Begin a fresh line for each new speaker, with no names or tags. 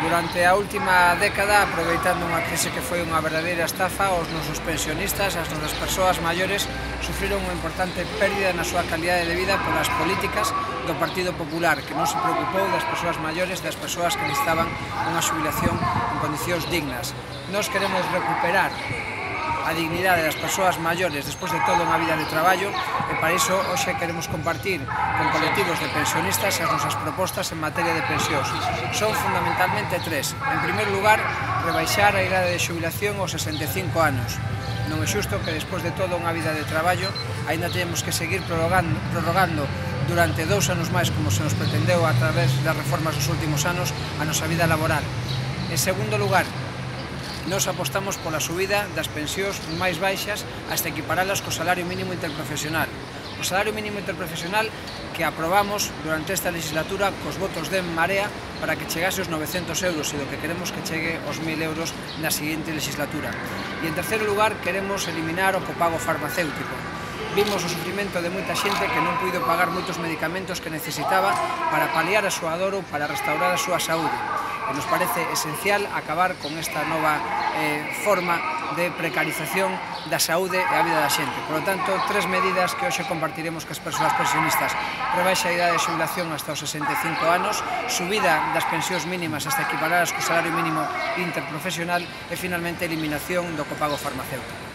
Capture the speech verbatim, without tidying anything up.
Durante a última década, aproveitando unha crise que foi unha verdadeira estafa, os nosos pensionistas, as nosas persoas maiores, sufriron unha importante pérdida na súa calidade de vida polas políticas do Partido Popular, que non se preocupou das persoas maiores, das persoas que necesitaban unha xubilación en condicións dignas. Nos queremos recuperar a dignidade das persoas maiores despois de toda unha vida de traballo e para iso hoxe queremos compartir con colectivos de pensionistas as nosas propostas en materia de pensións. Son fundamentalmente tres. En primeiro lugar, rebaixar a idade de xubilación aos sesenta e cinco anos. Non é xusto que despois de toda unha vida de traballo aínda teñamos que seguir prorrogando, prorrogando durante dous anos máis, como se nos pretendeu a través das reformas dos últimos anos, a nosa vida laboral. En segundo lugar, nos apostamos pola subida das pensións máis baixas hasta equiparalas co salario mínimo interprofesional. O salario mínimo interprofesional que aprobamos durante esta legislatura cos votos de En Marea para que chegase aos novecentos euros e do que queremos que chegue aos mil euros na seguinte legislatura. E en terceiro lugar, queremos eliminar o copago farmacéutico. Vimos o sufrimento de moita xente que non puido pagar moitos medicamentos que necesitaba para paliar a súa dor ou para restaurar a súa saúde. E nos parece esencial acabar con esta nova eh, forma de precarización da saúde e a vida da xente. Por lo tanto, tres medidas que hoxe compartiremos cas persoas pensionistas: rebaixa a idade de xubilación hasta os sesenta e cinco anos, subida das pensións mínimas hasta equiparadas co salario mínimo interprofesional e, finalmente, eliminación do copago farmacéutico.